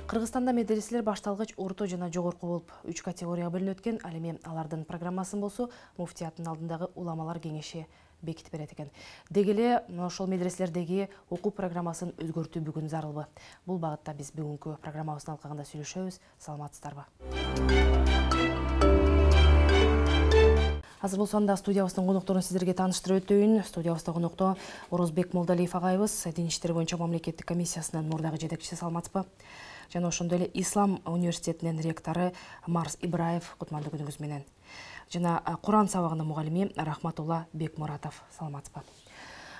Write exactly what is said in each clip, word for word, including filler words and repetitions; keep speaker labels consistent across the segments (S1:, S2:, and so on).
S1: Кыргызстанда медреселер башталгыч, орто жана жогорку болуп үч категорияга бөлүнүп өткөн. Ал эми алардын программасын болсо муфтияттын алдындагы уламалар кеңеши бекитип берет экен. Деги эле ошол медреселердеги окуу программасын өзгөртүү бүгүн зарылбы. Бул багытта биз бүгүнкү программабыздын алкагында сүйлөшөбүз. Саламатсыздарбы? Азыр болсо анда студиябыздын конокторун сиздерге тааныштырып өтөйүн. Студиябызда конокто Орозбек Молдалиев агайыбыз, Дин иштери боюнча мамлекеттик комиссиясынын мурдагы жетекчиси. Саламатсызбы? Жана ошондой эле Ислам университетинин ректору Марс Ибраев. Кутмандуу күнүңүз менен. Жана Куран сабагынын мугалими Рахматулла Бекмуратов. Саламатсызбы?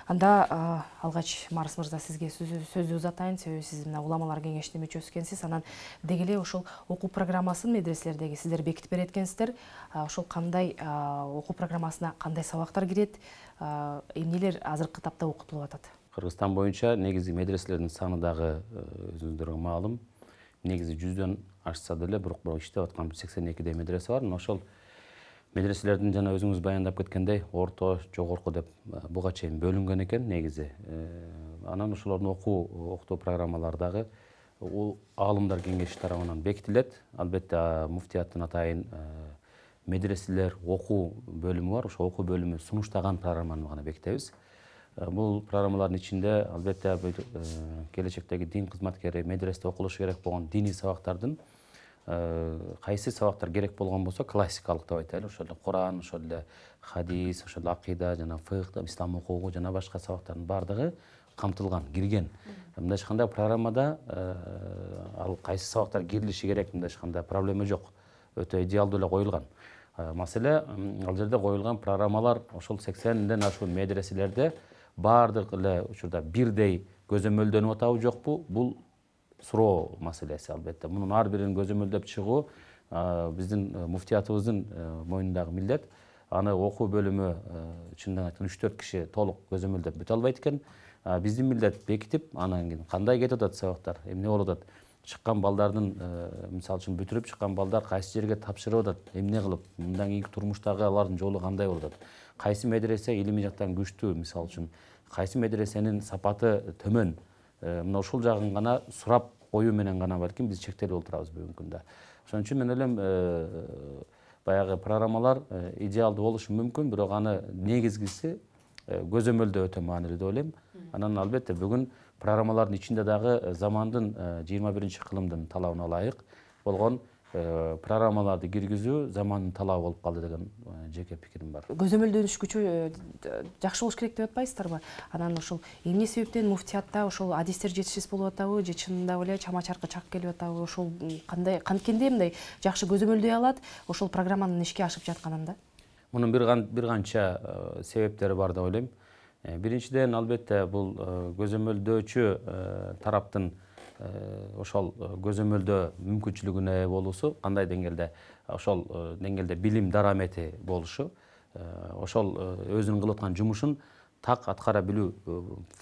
S1: Анда алгач Марс мырза сизге сөздү узатайын, себеби сиз мына уламалар кеңешинин мүчөсү экенсиз. Анан деги эле ошол окуу программасын медреселердеги сиздер бекитип берет экенсиздер. Ошол кандай окуу программасына кандай сабактар кирет, эмнелер азыркы тапта окутулуп атат?
S2: Кыргызстан боюнча негизи медреселердин саны дагы өзүңүздөргө маалым. Негизи жүздөн ашса деле, бирок иштеп аткан сексен экидей медресе бар. Ошол медреселердин жана өзүңүз баяндап кеткендей, орто, жогорку деп буга чейин бөлүнгөн экен негизи. Анан ошолордун окуу окутуу программалары дагы аалымдар кеңеши тарабынан бекитилет. Албетте муфтияттын атайын медреселер окуу бөлүмү бар. Ошол окуу бөлүмү сунуштаган программаны гана бекитебиз. Бул программалардын ичинде албетте келечектеги дин кызматкери медреседе окулушу керек болгон диний сабактардын кайсы сабактар керек болгон болсо классикалык деп айтайлы, ошол эле Куран, ошол эле хадис, ошол эле акыйда жана фыкh, ислам укугу жана башка сабактардын баардыгы камтылган, кирген. Мындайча айтканда программада ал кайсы сабактар кирилиши керек, мындайча айтканда проблема жок. Өтө идеалдуу эле коюлган. Маселе ал жерде коюлган программалар ошол сексенден ашуун медреселерде баардык эле учурда бирдей көзөмөлдөнүп атабы жокпу? Бул суроо маселеси албетте. Мунун ар бирин көзөмөлдөп чыгуу биздин муфтиятыбыздын мойнундагы милдет. Аны окуу бөлүмү чындыгын айтканда үч төрт киши толук көзөмөлдөп бүтө албайт экен. Биздин милдет бекитип, анан кийин кандай кетип атат сабактар, эмне болуп атат, чыккан балдардын, мисалы үчүн бүтүрүп чыккан балдар кайсы жерге тапшырып атат, эмне кылып, мындан кийинки турмуштагы алардын жолу кандай болуп атат, кайсы медресе илимий жактан күчтүү, мисалы үчүн кайсы медресенин сапаты төмөн, мына ушул жагын гана сурап коюу менен гана балким биз чектелип отурабыз бүгүнкү күндө. Ошон үчүн мен ойлойм, баягы программалар идеалдуу болушу мүмкүн, бирок аны негизгиси көзөмөлдөө өтө маанилүү деп ойлойм. Анан албетте бүгүн программалардын ичинде дагы замандын жыйырма биринчи кылымдын талабына ылайык болгон программаларды киргизүү замандын талабы болуп калды деген жеке пикирим бар.
S1: Көзөмөлдөнүшкүчө жакшы болуш керек деп атпайсыздарбы? Анан ошол эмне себептен муфтиятта ошол адистер жетишсиз болуп атабы, же чынында эле чама-чаркы чак келип атабы? Ошол кандай канткенде мындай жакшы көзөмөлдөй алат ошол программанын ишке ашып жатканында?
S2: Мунун бир канча себептери бар деп ойлойм. Биринчиден, албетте, бул көзөмөлдөөчү тараптын ошол көзөмөлдөө мүмкүнчүлүгүнө ээ болуусу, кандай деңгээлде, ошол деңгээлде билим дарамети болушу, ошол өзүнүн кылып аткан жумушун так аткара билүү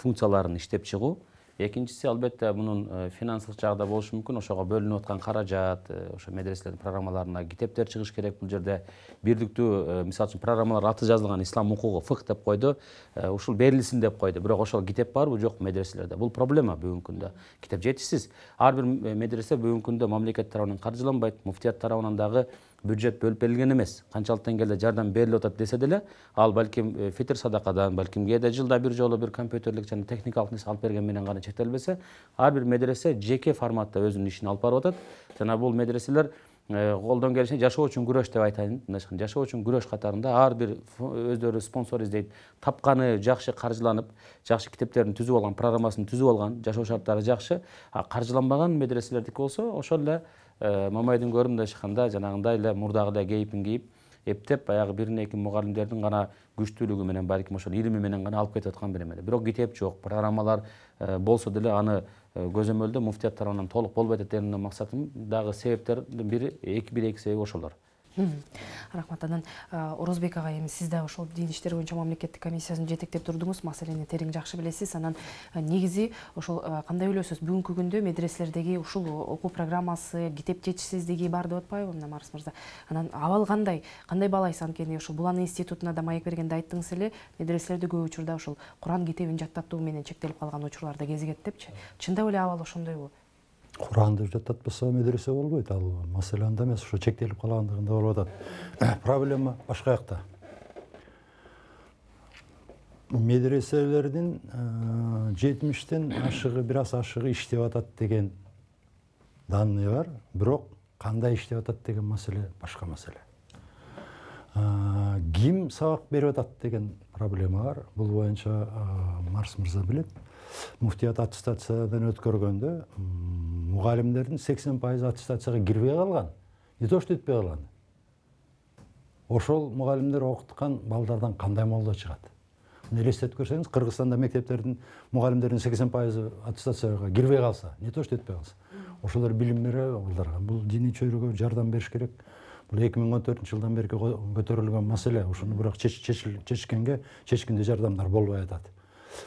S2: функцияларын иштеп чыгуу. Экинчиси, албетте, мунун финансылык жагда болушу мүмкүн. Ошого бөлүнүп аткан каражат, ошо медреселердин программаларына китептер чыгыш керек. Бул жерде бирдиктүү, мисалы үчүн, программалар аты жазылган, ислам укугу, фыкh деп койду, ушул берилсин деп койду. Бирок ошол китеп барбы, жок медреселерде? Бул проблема бүгүнкү күндө. Китеп жетишсиз. Ар бир медресе бүгүнкү күндө мамлекет тарабынан каржыланбайт, муфтият тарабынан дагы бюджет бөлүп берилген эмес. Канчалык деңгээлде жардам берилип атат десе деле, ал балким фитр садакадан, балким кээде жылда бир жолу бир компьютерлик жана техникалык нерсе алып берген менен гана чектелбесе, ар бир медресе жеке форматта өзүнүн ишин алып барып атат. Жана бул медреселер колдон келишинче жашоо үчүн күрөш деп айтайын. Жашоо үчүн күрөш катарында ар бир өздөрү спонсор издейт. Тапканы жакшы каржыланып, жакшы китептерин түзүп алган, программасын түзүп алган, жашоо шарттары жакшы, каржыланбаган медреселердики болсо, ошол эле мамайдын көрүп, мындайча айтканда, жанагындай эле мурдагы эле кейипин кийип, эптеп, баягы бир эки мугалимдердин гана күчтүүлүгү менен, балким ошол илими менен гана алып кетип аткан беремеди. Бирок китеп жок, программалар болсо деле аны көзөмөлдөө муфтият тарабынан толук болбойт деген максатым дагы себептердин бири, бир эки себеби ошолор.
S1: Рахмат. Анан Орозбек агай, эми сиз да ошол дин иштери боюнча мамлекеттик комиссиясын жетектеп турдуңуз, маселени терең жакшы билесиз. Анан негизи ошол кандай ойлойсуз, бүгүнкү күндө медреселердеги ушул окуу программасы, китеп жетишсиздиги бар деп атпайбы, мына Марс мырза? Анан абал кандай? Кандай баалайсыз? Анткени ошол Булан институтуна да маек бергенде айттыңыз эле, медреселерде көп учурда ошол Куран китебин жаттатуу менен чектелип калган учурлар да кезигет депчи. Чындап эле абал ошондойбу?
S3: Куранды жаттатпаса медресе болбойт. Ал маселе анда эмес, ошо чектелип калгандыгында болуп атат. Проблема башка жакта. Медреселердин жетимиштен ашыгы, бир аз ашыгы иштеп атат деген данный бар. Бирок кандай иштеп атат деген маселе башка маселе. Ким сабак берип атат деген проблема бар. Бул боюнча Марс мырза билет. Муфтият аттестациядан өткөргөндө мугалимдердин сексен пайызы аттестацияга кирбей калган. Не то что өтпөй калган. Ошол мугалимдер окуткан балдардан кандай молдо чыгат? Элестетип көрсөңүз, Кыргызстанда мектептердин мугалимдердин сексен пайызы аттестацияга кирбей калса, не то что өтпөй калса, ошолор билим бере балдарга. Бул диний чөйрөгө жардам бериш керек. Бул эки миң он төртүнчү жылдан бери көтөрүлгөн маселе. Ошону бирок чечкенге чечкинде жардамдар болбой атат.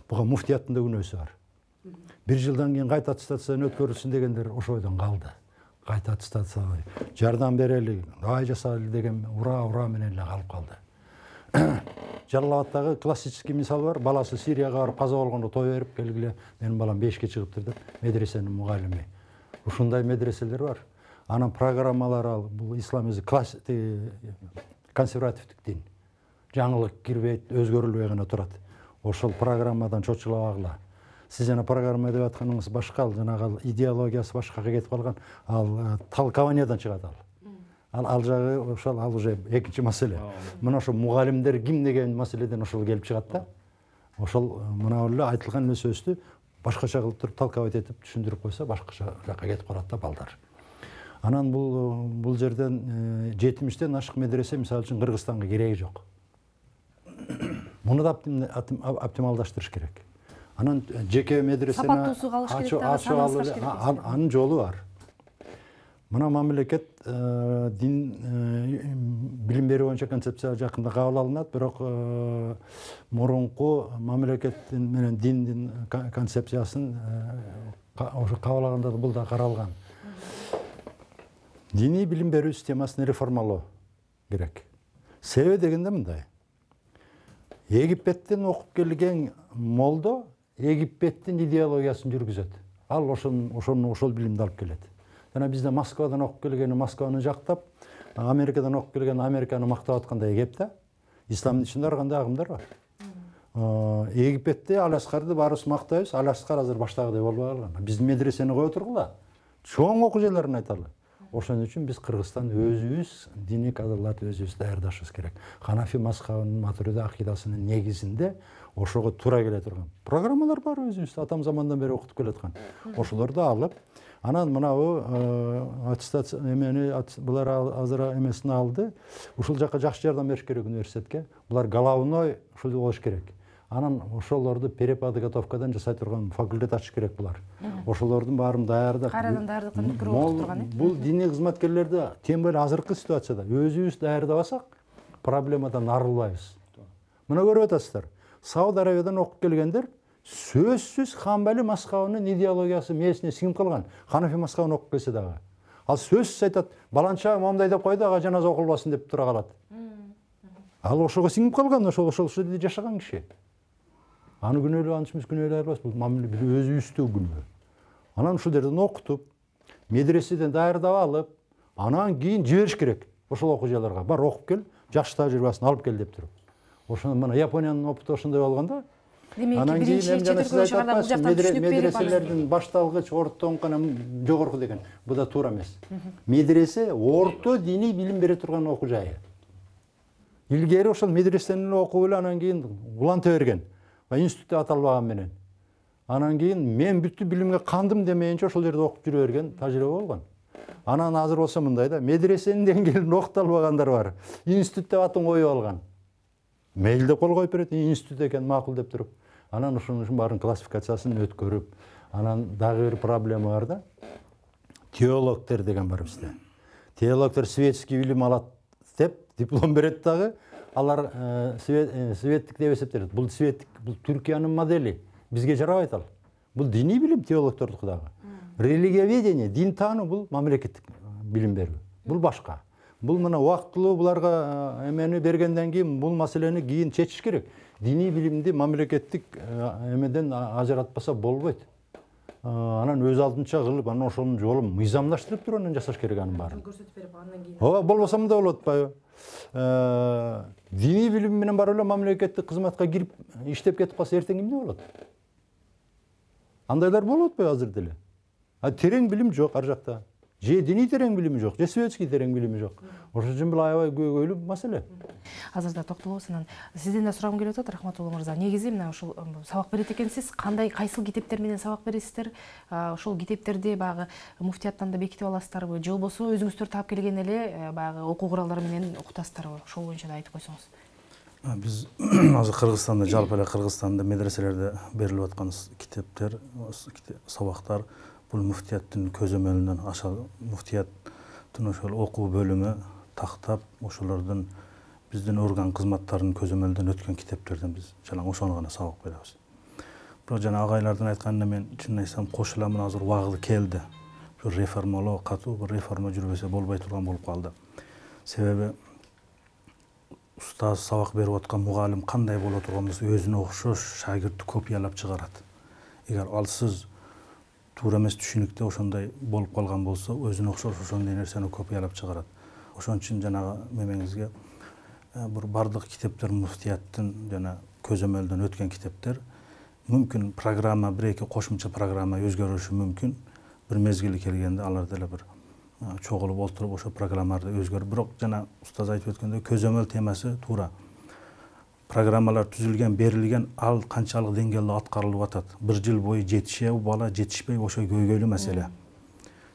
S3: Буга муфтияттын да күнөөсү бар. Бир жылдан кийин кайта аттестациядан өткөрүлсүн дегендер ошол ойдон калды. Кайта аттестация жардам берели, ай жасайлы деген ура ура менен эле калып калды. Жалал-Абадтагы классический мисал бар. Баласы Сирияга барып каза болгондо той берип келгиле, менин балам бешке чыгыптыр деп, медресенин мугалими. Ушундай медреселер бар. Анын программалары ал, бул ислам өзү консервативдик дин. Жаңылык кирбейт, өзгөрүлбөй гана турат. Ошол программадан чочулабагыла. Сиз жана программа деп атканыңыз башка, ал жанагы идеологиясы башкага кетип калган, ал толкованиядан чыгат ал. Ал ал жагы ошол ал уже экинчи маселе. Мына ошо мугалимдер ким деген маселеден ошол келип чыгат да. Ошол мына эле айтылган сөздү башкача кылып туруп толковать этип түшүндүрүп койсо башкача жакка кетип калат да балдар. Анан бул бул жерден жетимиштен ашык медресе мисалы үчүн Кыргызстанга кереги жок. Муну да оптималдаштырыш керек. Анан жеке медресени
S1: сапаттуусу калыш керек да, саналыш керек.
S3: Анын жолу бар. Мына мамлекет дин билим берүү боюнча концепция жакында кабыл алынат, бирок мурунку мамлекет менен диндин концепциясын ошо кабыл алганда бул да каралган. Диний билим берүү системасын реформалоо керек. Себеби дегенде мындай. Египеттен окуп келген молдо Египеттин идеологиясын жүргүзөт. Ал ошон ошону ошол билимди алып келет. Жана бизде Москвадан окуп келгени Москваны жактап, Америкадан окуп келген Американы мактап аткандай кеп да. Исламдын ичинде ар кандай агымдар бар. Египетте Аляскарды баарыбыз мактайбыз, Аляскар азыр баштагыдай болбой калган. Биздин медресени кое тургула. Чоң окуучуларын айталы. Ошон үчүн биз Кыргызстан өзүбүз диний кадрларды өзүбүз даярдашыбыз керек. Ханафи мазхабынын матурида акыйдасынын негизинде ошого туура келе турган программалар бар өзүбүз атам замандан бери окутуп келаткан. Ошолорду алып, анан мынабу аттестация эмени булар азыр эмесин алды. Ушул жакка жакшы жардам бериш керек университетке. Булар головной ушул болуш керек. Анан ошолорду переподготовкадан жасай турган факультет ачыш керек булар. Ошолордун баарын даярдап,
S1: кайрадан даярдыктан өткөрүп окуп турган э.
S3: Бул диний кызматкерлерди тем более азыркы ситуацияда өзүбүз даярдабасак, проблемадан арылбайбыз. Мына көрүп атасыздар. Сауд Арабиядан окуп келгендер сөзсүз Хамбали мазхабынын идеологиясы мээсине сиңип калган. Ханафи мазхабын окуп келсе дагы. Ал сөзсүз айтат, баланча момундай деп койду, ага жаназа окулбасын деп тура калат. Ал ошого сиңип калган, ошол ошол жерде жашаган киши. Аны күнөөлөп анчыбыз күнөөлөй албайбыз. Бул мамиле өзүбүздү күнөө. Анан ушул жерден окутуп, медреседен даярдап алып, анан кийин жибериш керек. Ошол окуучуларга бар окуп кел, жакшы тажрыйбасын алып кел деп туруп. Ошону мына Япониянын опыту ошондой болгондо.
S1: Анан кийин жана сиз айтпайсызбы,
S3: медреселердин башталгыч, орто, анан жогорку деген. Бу да туура эмес. Медресе орто диний билим бере турган окуу жайы. Илгери ошол медресени окуп эле анан кийин уланта берген. Институтта аталбаган менен. Анан кийин мен бүттү билимге кандым демейинче ошол жерде окуп жүрө берген тажрыйба болгон. Анан азыр болсо мындай да, медресенин деңгээлинде окута албагандар бар. Институт деп атын коюп алган. Мейл деп кол коюп берет, институт экен макул деп туруп. Анан ошонун баарын классификациясын өткөрүп, анан дагы бир проблема бар да. Теологтер деген бар бизде. Теологтер светский билим алат деп диплом берет дагы. Алар светтик деп эсептелет. Бул светтик, бул Түркиянын модели. Бизге жарабайт ал. Бул диний билим теологтордуку дагы. Религиоведение, дин таануу бул мамлекеттик билим берүү. Бул башка. Бул мына убактылуу буларга эмени бергенден кийин бул маселени кийин чечиш керек. Диний билимди мамлекеттик эмеден ажыратпаса болбойт. анан өз алдынча кылып анан ошонун жолун мыйзамдаштырып туруп анан жасаш керек анын баарын.
S1: Көрсөтүп берип андан кийин.
S3: Ооба, болбосо мындай болуп атпайбы? Диний билим менен барып эле мамлекеттик кызматка кирип иштеп кетип калса эртең эмне болот? Андайлар болуп атпайбы азыр деле? А терең билим жок ар жакта. Же диний терең билими жок, же светский терең билими жок. Ошол үчүн бул аябай көйгөйлүү маселе.
S1: Азыр да токтолобуз анан сизден да сурагым келип атат, Рахматулла мырза. Негизи мына ушул сабак берет экенсиз, кандай кайсыл китептер менен сабак бересиздер? Ошол китептерди баягы муфтияттан да бекитип аласыздарбы, же болбосо өзүңүздөр таап келген эле баягы окуу куралдары менен окутасыздарбы? Ошол боюнча да айтып койсоңуз.
S4: Биз азыр Кыргызстанда, жалпы эле Кыргызстанда медреселерде берилип аткан китептер, сабактар бул муфтияттын көзөмөлүнөн аша муфтияттын ошол окуу бөлүмү тактап, ошолордун биздин орган кызматтарынын көзөмөлүнөн өткөн китептерден биз жалаң ошону гана сабак беребиз. Бирок жана агайлардын айтканына мен чынын айтсам кошуламын, азыр убагы келди. Бир реформалоо, катуу бир реформа жүрбөсө болбой турган болуп калды. Себеби устаз сабак берип аткан мугалим кандай боло турган болсо өзүнө окшош шагиртти копиялап чыгарат. Эгер алсыз туура эмес түшүнүктө ошондой болуп калган болсо, өзүнө окшош ошондой нерсени копиялап чыгарат. Ошон үчүн жанагы мемеңизге бир бардык китептер муфтияттын жана көзөмөлдөн өткөн китептер мүмкүн программа бир эки кошумча программа өзгөрүшү мүмкүн. Бир мезгили келгенде алар деле бир чогулуп олтуруп ошо программаларды өзгөрүп, бирок жана устаз айтып өткөндөй көзөмөл темасы туура. Программалар түзүлгөн, берилген, ал канчалык деңгээлде аткарылып атат. Бир жыл бою жетишеби бала, жетишпей, ошо көйгөйлүү маселе.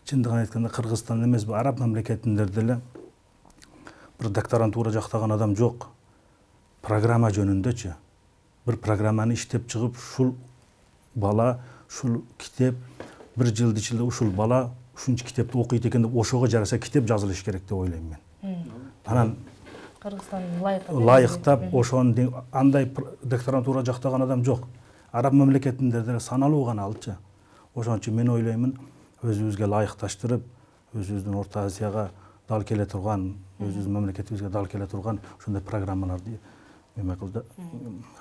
S4: Чындыгын айтканда Кыргызстан эмес, бу араб мамлекетинде деле бир докторантура жактаган адам жок. Программа жөнүндөчү. Бир программаны иштеп чыгып, ушул бала, ушул китеп бир жылдын ичинде ушул бала ушунча китепти окуйт экен деп ошого жараша китеп жазылыш керек деп ойлойм мен. Анан
S1: Кыргызстан лайыктап
S4: лайыктап ошону андай докторантура жактаган адам жок. Араб мамлекетинде деле саналуу гана алчы. Ошон үчүн мен ойлоймун, өзүбүзгө лайыкташтырып, өзүбүздүн Орто Азияга дал келе турган, өзүбүздүн мамлекетибизге дал келе турган ошондой программаларды эме кылды,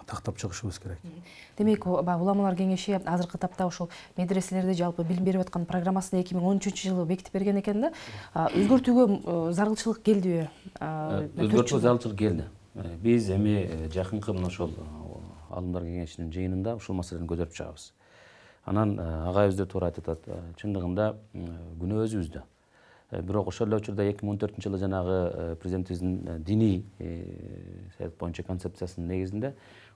S4: тактап чыгышыбыз керек.
S1: Демек, уламалар кеңеши азыркы тапта ошол медреселерде жалпы билим берип аткан программасын эки миң он үчүнчү жылы бекитип берген экен да. Өзгөртүүгө зарылчылык келдиби?
S2: Өзгөртүүгө зарылчылык келди. Биз эми жакынкы мына ошол алымдар кеңешинин жыйынында ушул маселени көтөрүп чыгабыз. Анан агайыбыз да туура айтып атат. Чындыгында күнөө өзүбүздө. Бирок ошол эле учурда эки миң он төртүнчү жылы жанагы президентибиздин диний саясат боюнча концепциясынын негизинде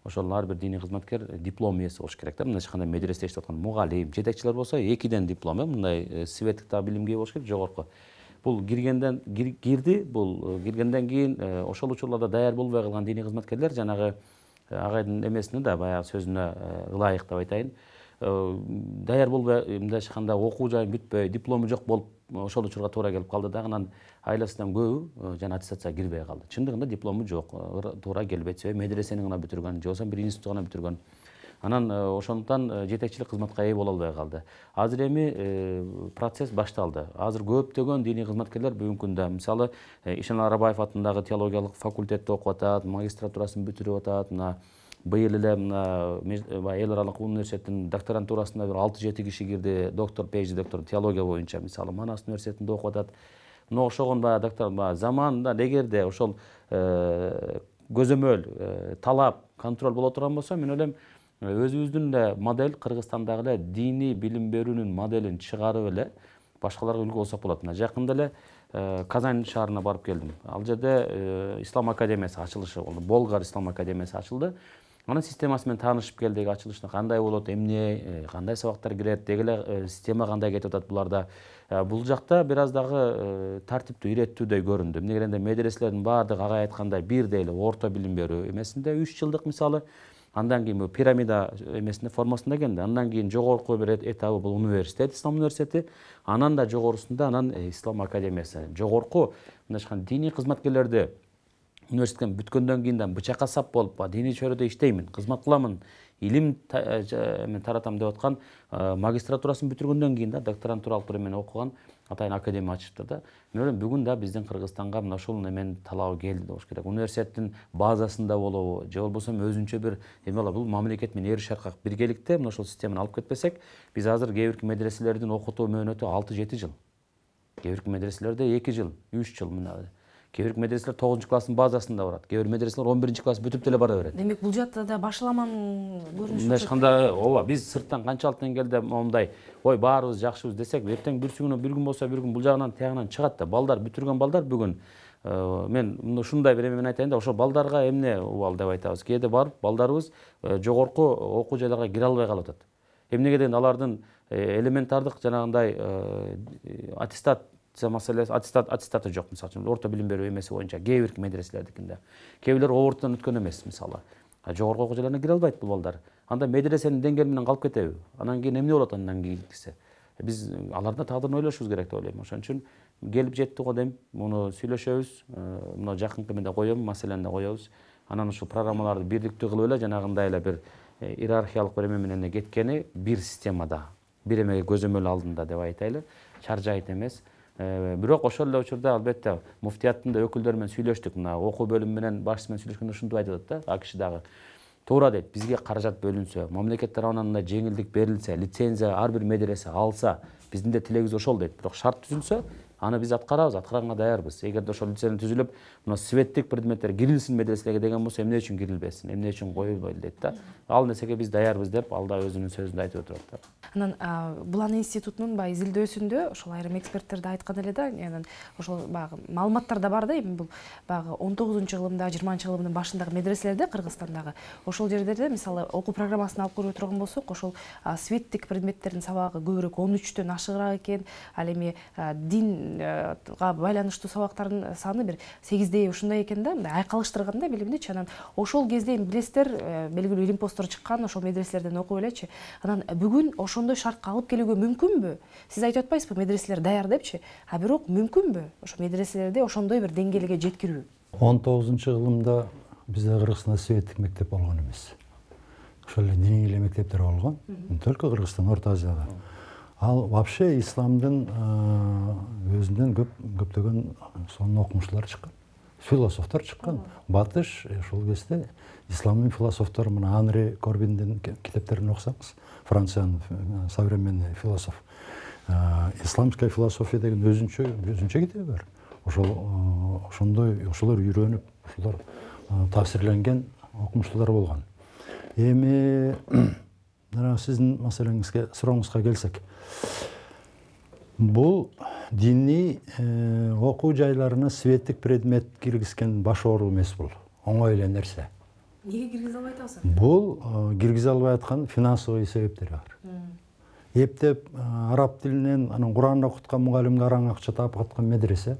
S2: ошол ар бир диний кызматкер диплом ээси болуш керек да. Мындай эч кандай медреседе иштеп аткан мугалим, жетекчилер болсо экиден диплом, мындай светтик да билимге болуш керек, жогорку. Бул киргенден кирди, бул киргенден кийин ошол учурларда даяр болбой калган диний кызматкерлер жанагы агайдын эмесине да баягы сөзүнө ылайык деп айтайын. Даяр болбой мындайча айтканда окуу жайы бүтпөй, диплому жок болуп ошол учурга туура келип калды да. Анан айласынан көбү жана аттестацияга кирбей калды. Чындыгында диплому жок, туура келбейт, себеби медресени гана бүтүргөн, же болбосо бир институт гана бүтүргөн. Анан ошондуктан жетекчилик кызматка ээ боло албай калды. Азыр эми процесс башталды. Азыр көптөгөн диний кызматкерлер бүгүнкү күндө, мисалы, Ишенал Арабаев атындагы теологиялык факультетте окуп атат, магистратурасын бүтүрүп атат. Мына быйыл эле мына эл аралык университеттин докторантурасына бир алты жети киши кирди, доктор, пейджи доктор теология боюнча, мисалы, Манас университетинде окуп атат. Мына ошогон баягы доктор заманында эгерде ошол көзөмөл, талап, контроль боло турган болсо, мен ойлойм, өзүбүздүн эле модель, Кыргызстандагы эле диний билим берүүнүн моделин чыгарып эле башкаларга үлгү болсок болот. Мына жакында эле Казань шаарына барып келдим. Ал жерде Ислам академиясы ачылышы болду. Болгар Ислам академиясы ачылды. Анын системасы менен таанышып келдик, ачылышына кандай болот, эмне, кандай сабактар кирет, деги эле система кандай кетип атат буларда. Бул жакта бир аз дагы тартиптүү, иреттүүдөй көрүндү. Эмне дегенде медреселердин баардыгы агай айткандай бирдей эле орто билим берүү эмесинде үч жылдык мисалы, андан кийин бул пирамида эмесинде формасында келди. Андан кийин жогорку бир этабы бул университет, Ислам университети, анан да жогорусунда анан Ислам академиясы. Жогорку мындайча айтканда диний кызматкерлерди университеттен бүткөндөн кийин да бычакка сап болуп диний чөйрөдө иштеймин, кызмат кыламын, илим мен таратам деп аткан магистратурасын бүтүргөндөн кийин да докторантуралык бир эмени окуган атайын академия ачыптыр да. Мен ойлойм бүгүн да биздин Кыргызстанга мына ушул неменин талабы келди болуш керек. Университеттин базасында болобу же болбосо өзүнчө бир эме болобу, бул мамлекет менен эр шаркак биргеликте мына ушул системаны алып кетпесек, биз азыр кээ бирки медреселердин окутуу мөөнөтү алты жети жыл. Кээ бирки медреселерде эки жыл, үч жыл мына. Кээ бирки медреселер тогузунчу класстын базасында барат. Кээ бир медреселер он биринчи класс бүтүп деле бара берет.
S1: Демек бул жакта да башаламан көрүнүш.
S2: Мындай ешкандай ооба биз сырттан канчалык деңгээлде момундай ой баарыбыз жакшыбыз десек, эртең бир күнү бир күн болсо бир күн бул жагынан тиягынан чыгат да. Балдар бүтүргөн балдар бүгүн мен ушундай бир эме менен айтайын да, ошо балдарга эмне убал деп айтабыз. Кээде барып балдарыбыз жогорку окуу жайларга кире албай калып атат. Эмнеге дегенде алардын элементардык жанагындай аттестат маселеси, аттестат аттестаты жок, мисалы үчүн орто билим берүү эмеси боюнча кээ бирки медреселердикинде. Кээ бирлер оборудтан өткөн эмес, мисалы. Жогорку окуу жайларына кире албайт бул балдар. Анда медресенин деңгээли менен калып кетеби? Анан кийин эмне болот андан кийинкиси? Биз алардын тагдырын ойлошубуз керек деп ойлойм. Ошон үчүн келип жетти го дейм. Муну сүйлөшөбүз. Мына жакынкы менде коем, маселени да коебуз. Анан ушул программаларды бирдиктүү кылып эле жанагындай эле бир иерархиялык бир эме менен кеткени бир системада, бир эмеге көзөмөл алдында деп айтайлы. Чаржайыт эмес. Бирок ошол эле учурда албетте муфтияттын да өкүлдөрү менен сүйлөштүк. Мына окуу бөлүмү менен башчысы менен сүйлөшкөндө ушинтип айтып атат да, АКШ дагы. Туура дейт, бизге каражат бөлүнсө, мамлекет тарабынан мындай жеңилдик берилсе, лицензия ар бир медресе алса, биздин да тилегибиз ошол дейт. Бирок шарт түзүлсө, аны биз аткарабыз, аткарганга даярбыз. Эгерде ошол лицензия түзүлүп, мына светтик предметтер кирилсин медреселерге деген болсо, эмне үчүн кирилбесин, эмне үчүн коюлбойт дейт да. Ал нерсеге биз даярбыз деп, ал да өзүнүн сөзүндө айтып отурат да.
S1: Анан Булан институтунун баягы изилдөөсүндө ошол айрым эксперттер да айткан эле да, анан ошол баягы маалыматтар да бар да, эми бул баягы он тогузунчу кылымда, жыйырманчы кылымдын башындагы медреселерде Кыргызстандагы ошол жерлерде мисалы окуу программасын алып көрүп турган болсок, ошол светтик предметтердин сабагы көбүрөөк он үчтөн ашыгыраак экен. Ал эми динга байланыштуу сабактардын саны бир сегиздей ушундай экен да, мындай айкалыштырганда билимдичи. Анан ошол кезде эми билесиздер, белгилүү илим посттор чыккан ошол медреселерден окуп элечи. Анан бүгүн ошондой шартка алып келүүгө мүмкүнбү? Сиз айтып атпайсызбы, медреселер даяр депчи? А бирок мүмкүнбү ошо медреселерди ошондой бир деңгээлге жеткирүү?
S3: он тогузунчу кылымда бизде Кыргызстанда светтик мектеп болгон эмес. Ошол эле диний эле мектептер болгон. Только Кыргызстан, Орто Азияда. Ал вообще исламдын өзүнөн көп көптөгөн сонун окумуштуулар чыккан. Философтор чыккан. Батыш ошол кезде исламдын философтору, мына Анри Корбиндин китептерин окусаңыз, Франциянын современный философ. Исламская философия деген өзүнчө өзүнчө китеби бар. Ошол ошондой ошолор үйрөнүп, ошолор таасирленген окумуштуулар болгон. Эми мына сиздин маселеңизге, сурооңузга келсек, бул диний окуу жайларына светтик предмет киргизген баш оору эмес, бул оңой эле нерсе.
S1: Неге киргизе албай атабыз?
S3: Бул киргизе албай аткан финансовый себептери бар. Эптеп араб тилинен анан Кур'ан окуткан мугалимге араң акча таап аткан медресе,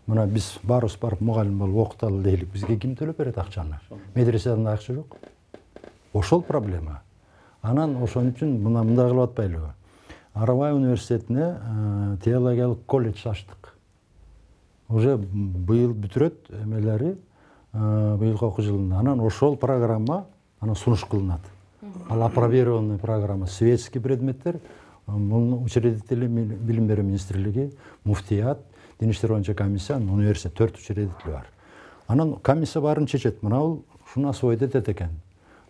S3: мына биз баарыбыз барып мугалим болуп окуталы дейлик, бизге ким төлөп берет акчаны? Медреседен акча жок. Ошол проблема. Анан ошон үчүн мына мындай кылып атпайлыбы? Арабай университетине теологиялык колледж ачтык. Уже быйыл бүтүрөт эмелери, быйылкы окуу жылында. Анан ошол программа анан сунуш кылынат. Ал апробированный программа, светский предметтер, муну учредители билим берүү министрлиги, муфтият, дин иштери боюнча комиссия, университет, төрт учредитель бар. Анан комиссия баарын чечет. Мына бул ушуну освоить этет экен.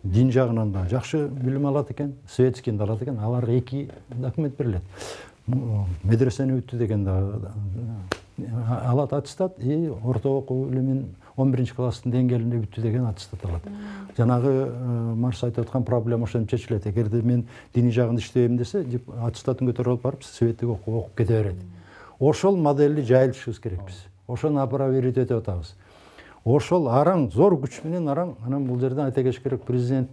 S3: Дин жагынан да жакшы билим алат экен, светскийди алат экен. Аларга эки документ берилет. Медресени бүттү деген да алат аттестат, и орто окуу билимин он биринчи класстын деңгээлинде бүттү деген аттестат алат. Жанагы Марс айтып аткан проблема ошентип чечилет. Эгерде мен диний жагында иштебейм десе, аттестатын көтөрүп алып барып светтик окуп кете берет. Ошол моделди жайылтышыбыз керек биз. Ошону апробировать этип атабыз. Ошол араң зор күч менен араң, анан бул жерден айта кетиш керек, президент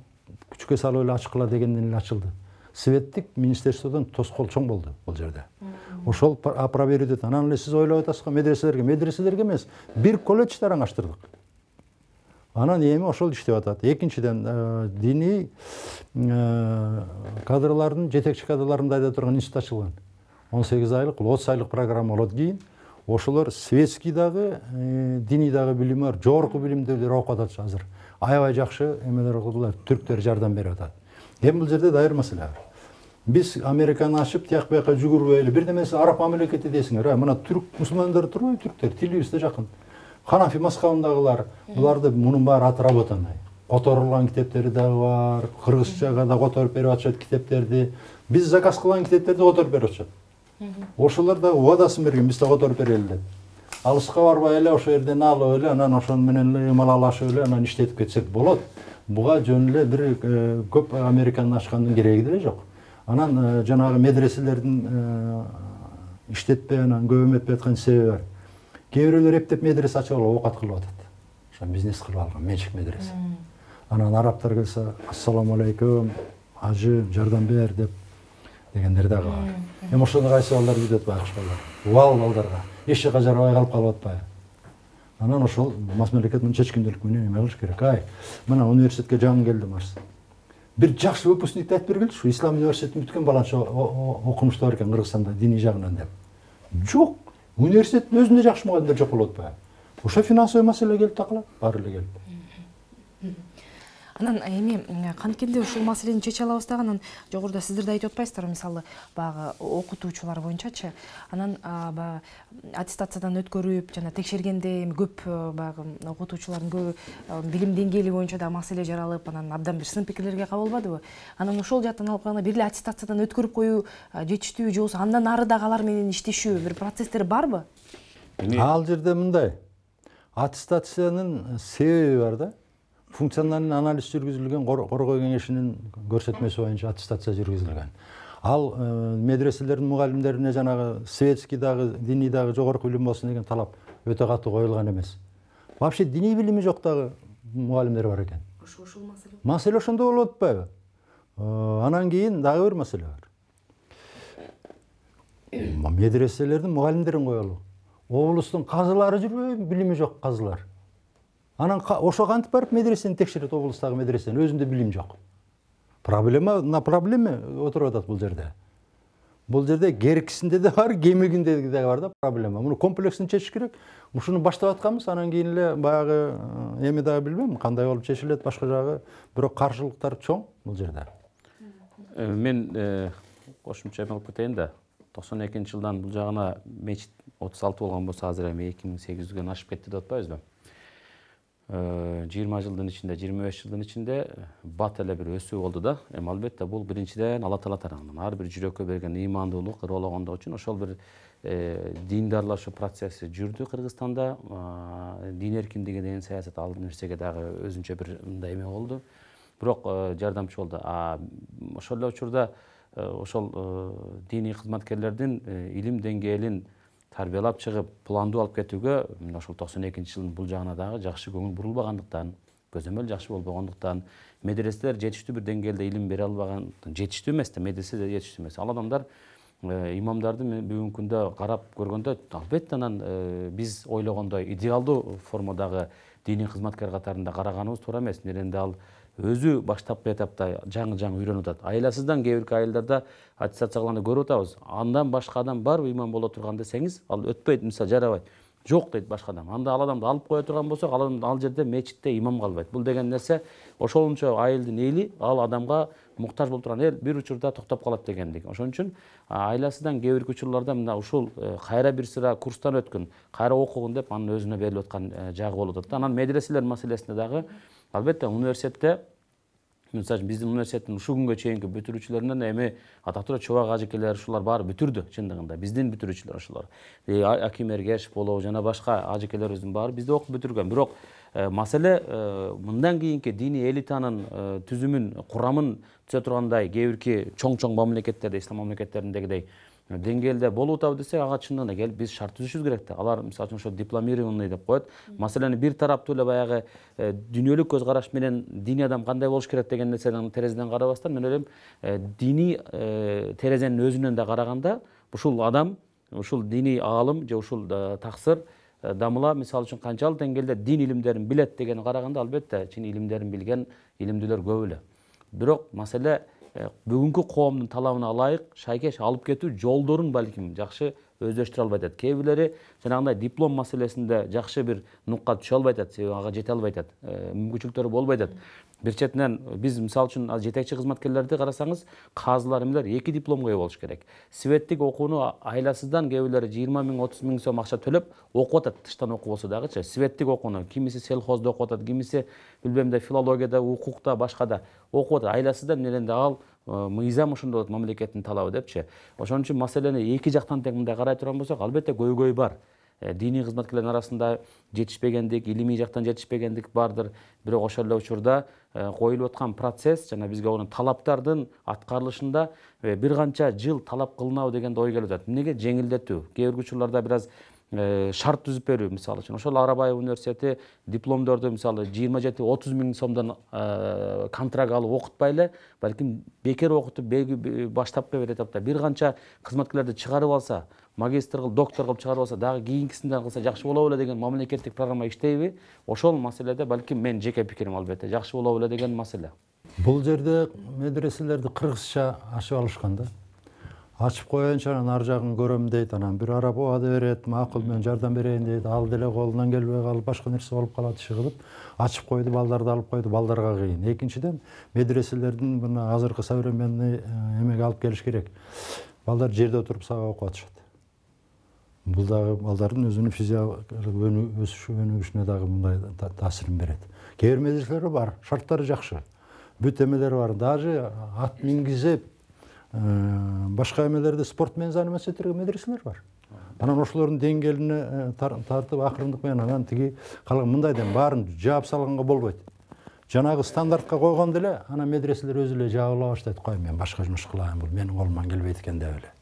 S3: күчкө салып эле ачкыла дегенден эле ачылды. Светтик министерстводон тоскоол чоң болду бул жерде. Ошол апробировать этет. Анан эле сиз ойлоп атасызбы, медреселерге, медреселерге эмес, бир колледжди араң ачтырдык. Анан эми ошол иштеп атат. Экинчиден, диний кадрлардын, жетекчи кадрларын дайда турган институт ачылган. он сегиз айлык, отуз айлык программа болот. Кийин ошолор светский дагы, диний дагы билими бар, жогорку билимдүүлөр окуп атат азыр. Аябай жакшы эмелер кылдылар, түрктөр жардам берип атат. Эми бул жерде дайыр маселе бар. Биз Американы ачып, тияк бияка жүгүрбөй эле, бир немеси араб мамлекети десиңер, мына түрк мусулмандар турбайбы, түрктөр, тилибиз да жакын. Ханафи мазхабындагылар, буларды мунун баары отработанный. Которулган китептери дагы бар, кыргызчага да которуп берип атышат китептерди. Биз заказ кылган китептерди которуп берип атышат. Ошолор да убадасын берген, биз да которуп берели деп. Алыска барбай эле ошол жерден алып эле, анан ошону менен эле ымалалашып эле, анан иштетип кетсек болот. Буга жөн эле бир көп Американы ачкандын кереги деле жок. Анан жанагы медреселердин иштетпей, анан көп этпей аткан себеби бар. Кээ бирөөлөр эптеп медресе ачып алып оокат кылып атат. Ошо бизнес кылып алган, менчик медресе. Анан арабтар келсе, ассаламу алейкум, ажы, жардам бер деп дегендер дагы бар. Эми ошону кайсы балдар билет байкуш балдар. Убал балдарга эч жака жарабай калып калып атпайбы? Анан ошол мас мамлекет мынча чечкиндүүлүк менен эме кылыш керек. Ай, мына университетке жаңы келдим арс. Бир жакшы выпускникти айтып бергилчи, ушу Ислам университетин бүткөн баланча окумуштуу бар экен Кыргызстанда диний жагынан деп. Жок. Университеттин өзүндө жакшы мугалимдер жок болуп атпайбы? Ошо финансовый маселе келип такалат, баары эле келип.
S1: Анан эми канткенде ушул маселени чече алабыз дагы, анан жогоруда сиздер да айтып атпайсыздарбы, мисалы баягы окутуучулар боюнчачы, анан баягы аттестациядан өткөрүп, жана текшергенде эми көп баягы окутуучулардын көбү билим деңгээли боюнча да маселе жаралып, анан абдан бир сын пикирлерге кабылбадыбы? Анан ошол жактан алып караганда бир эле аттестациядан өткөрүп коюу жетиштүү, же болбосо андан ары дагы алар менен иштешүү бир процесстер барбы?
S3: Ал жерде мындай, аттестациянын себеби бар да. Функциональный анализ жүргүзүлгөн, коргоо кеңешинин көрсөтмөсү боюнча аттестация жүргүзүлгөн. Ал медреселердин мугалимдерине жанагы светский дагы, диний дагы жогорку билим болсун деген талап өтө катуу коюлган эмес. Вообще диний билими жок дагы мугалимдер бар экен.
S1: Ошол маселе.
S3: Маселе ошондо болуп атпайбы? Анан кийин дагы бир маселе бар. Медреселердин мугалимдерин коелу. Облустун казылары жүрбөйбү, билими жок казылар. Анан ошо кантип барып медресени текшерет, облустагы медресени, өзүндө билим жок. Проблема на проблеме отуруп атат бул жерде. Бул жерде керкисинде да бар, кемигинде да бар да проблема. Муну комплексно чечиш керек. Ушуну баштап атканбыз, анан кийин эле баягы эми дагы билбейм, кандай болуп чечилет башка жагы, бирок каршылыктар чоң бул жерде.
S2: Мен кошумча эме кылып кетейин да. токсон экинчи жылдан бул жагына мечит отуз алты болгон болсо, азыр эми эки миң сегиз жүздөн ашып кетти деп атпайбызбы? жыйырма жылдын ичинде, жыйырма беш жылдын ичинде бат эле бир өсүү болду да. Эми албетте бул биринчиден Алла Таала тарабынан ар бир жүрөккө берген ыймандуулук, ыроологондук үчүн ошол бир диндарлашуу процесси жүрдү Кыргызстанда. Дин эркиндиги деген саясат ал нерсеге дагы өзүнчө бир мындай эме болду. Бирок жардамчы болду. Ошол эле учурда ошол диний кызматкерлердин илим деңгээлин тарбиялап чыгып, пландуу алып кетүүгө ошол токсон экинчи жылдын бул жагына дагы жакшы көңүл бурулбагандыктан, көзөмөл жакшы болбогондуктан, медреселер жетиштүү бир деңгээлде илим бере албаган, жетиштүү эмес да, медресе жетиштүү эмес. Ал адамдар имамдарды бүгүнкү күндө карап көргөндө, албетте анан биз ойлогондой идеалдуу формадагы диний кызматкер катарында караганыбыз туура эмес. Неренде ал өзү баштапкы этапта жаңы-жаңы үйрөнүп атат. Айласыздан кээ бир айылдарда аттестация кылганда көрүп атабыз. Андан башка адам барбы имам боло турган десеңиз, ал өтпөйт, мисалы жарабайт. Жок дейт башка адам. Анда ал адамды алып кое турган болсок, ал адам ал жерде мечитте имам калбайт. Бул деген нерсе ошолунча айылдын эли ал адамга муктаж болуп турган эл бир учурда токтоп калат дегендик. Ошон үчүн айласыздан кээ бир учурларда мына ушул кайра бир сыра курстан өткөн, кайра окугун деп анын өзүнө берилип аткан жагы болуп атат. Анан медреселер маселесинде дагы албетте университетте, мисалы биздин университеттин ушул күнгө чейинки бүтүрүүчүлөрүнөн эми атактуу чубак ажекелер ушулар баары бүтүрдү чындыгында. Биздин бүтүрүүчүлөр ошолор. Аким Эргешев болобу жана башка ажекелерибиздин баары бизде окуп бүтүргөн. Бирок маселе мындан кийинки диний элитанын түзүмүн, курамын түзө тургандай кээ бирки чоң-чоң мамлекеттерде, ислам мамлекеттериндегидей деңгээлде болуп атабы десек, ага чындыгында келип биз шарт түзүшүбүз керек да. Алар мисалы үчүн ошо дипломированный деп коет. Маселени бир тараптуу эле баягы дүйнөлүк көз караш менен диний адам кандай болуш керек деген нерседен терезеден карабастан, мен ойлойм, диний терезенин өзүнөн да караганда ушул адам, ушул диний аалым же ушул таксыр дамыла мисалы үчүн канчалык деңгээлде дин илимдерин билет деген караганда, албетте чын илимдерин билген илимдүүлөр көп эле. Бирок маселе бүгүнкү коомдун талабына ылайык шайкеш алып кетүү жолдорун балким жакшы өздөштүрө албай атат. Кээ бирлери жанагындай диплом маселесинде жакшы бир нукка түшө албай атат, себеби ага жете албай атат, мүмкүнчүлүктөрү болбой атат. Бир четинен биз мисалы үчүн жетекчи кызматкерлерди карасаңыз, казылар эмелер эки дипломго ээ болуш керек. Светтик окууну айласыздан кээ бирлери жыйырма миң отуз миң сом акча төлөп окуп атат, тыштан окуу болсо дагычы. Светтик окууну кимиси селхоздо окуп атат, кимиси билбем да филологияда, укукта, башкада окуп атат. Айласыздан менен ал мыйзам ошондой болот, мамлекеттин талабы депчи. Ошон үчүн маселени эки жактан тең мындай карай турган болсок, албетте көйгөй бар. Диний кызматкерлердин арасында жетишпегендик, илимий жактан жетишпегендик бардыр. Бирок ошол эле учурда коюлуп аткан процесс жана бизге онун талаптардын аткарылышында бир канча жыл талап кылынабы деген ой келип атат. Эмнеге жеңилдетүү? Кээ бир учурларда бир аз шарт түзүп берүү, мисалы үчүн ошол Арабаев университети дипломдорду мисалы жыйырма жети отуз миң сомдон контракт алып окутпай эле, балким бекер окутуп баштапкы бир этапта бир канча кызматкерлерди чыгарып алса, магистр кылып, доктор кылып чыгарып алса, дагы кийинкисинен кылса жакшы болобу эле деген мамлекеттик программа иштейби? Ошол маселеде балким мен жеке пикирим албетте жакшы болобу эле деген маселе.
S3: Бул жерде медреселерди кыргызча ачып алышкан да. Ачып коеюнча анан ар жагын көрөм дейт, анан бир араб убады берет, макул мен жардам берейин дейт, ал деле колунан келбей калып, башка нерсе болуп калат, иши кылып, ачып койду, балдарды алып койду, балдарга кыйын. Экинчиден, медреселердин мына азыркы современный эмеге алып келиш керек. Балдар жерде отуруп сабак окуп атышат. Бул дагы балдардын өзүнүн физиологиялык өсүшү, өнүгүшүнө дагы мындай таасирин берет. Кээ бир медреселер бар, шарттары жакшы. Бүт эмелери бар, даже ат мингизип, башка эмелерде спорт менен заниматься эткен медреселер бар. Анан ошолордун деңгээлине тартып акырындык менен анан тиги калган мындайдан баарын жаап салганга болбойт. Жанагы стандартка койгондо эле анан медреселер өзү эле жаабыла баштайт. Кой мен башка жумуш кылайын, бул менин колуман келбейт экен деп эле.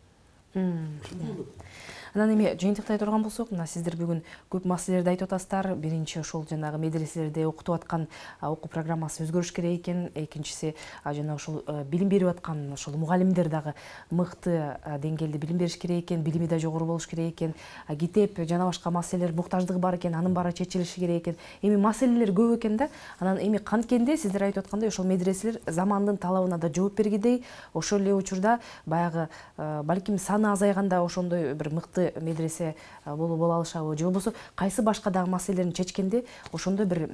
S1: Анан эми жыйынтыктай турган болсок, мына сиздер бүгүн көп маселелерди айтып атасыздар. Биринчи ошол жанагы медреселерде окутуп аткан окуу программасы өзгөрүш керек экен. Экинчиси жана ошол билим берип аткан ошол мугалимдер дагы мыкты деңгээлде билим бериш керек экен, билими да жогору болуш керек экен. Китеп жана башка маселелер муктаждыгы бар экен, анын баары чечилиши керек экен. Эми маселелер көп экен да. Анан эми канткенде сиздер айтып аткандай ошол медреселер замандын талабына да жооп бергидей, ошол эле учурда баягы балким саны азайганда ошондой бир мыкты медресе болуп боло алышабы, же болбосо кайсы башка дагы маселелерин чечкенде ошондой бир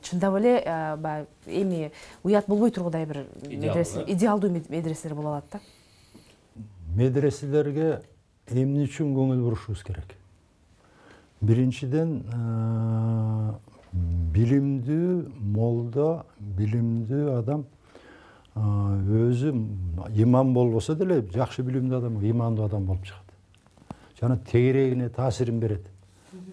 S1: чындап эле баягы эми уят болбой тургудай бир медресе, идеалдуу медреселер боло алат да.
S3: Медреселерге эмне үчүн көңүл бурушубуз керек? Биринчиден билимдүү молдо, билимдүү адам өзү имам болбосо деле жакшы билимдүү адам, имандуу адам болуп чыгат. Жана тегерегине таасирин берет.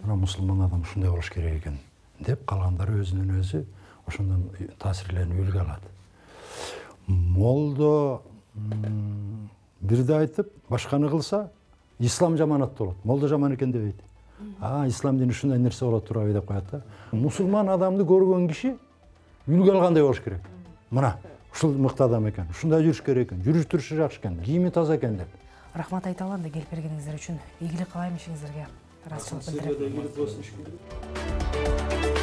S3: Мына мусулман адам ушундай болуш керек экен деп калгандары өзүнөн өзү ошондон таасирленип үлгү алат. Молдо бирди айтып, башканы кылса, ислам жаманаттуу болот. Молдо жаман экен дебейт. А, ислам дини ушундай нерсе болот турабы деп коет да. Мусулман адамды көргөн киши үлгү алгандай болуш керек. Мына ушул мыкты адам экен, ушундай жүрүш керек экен, жүрүш турушу жакшы экен, кийими таза экен деп.
S1: Рахмат айта алам да келип бергениңиздер үчүн. Ийгилик каалайм ишиңиздерге. Ыраазычылык билдирем.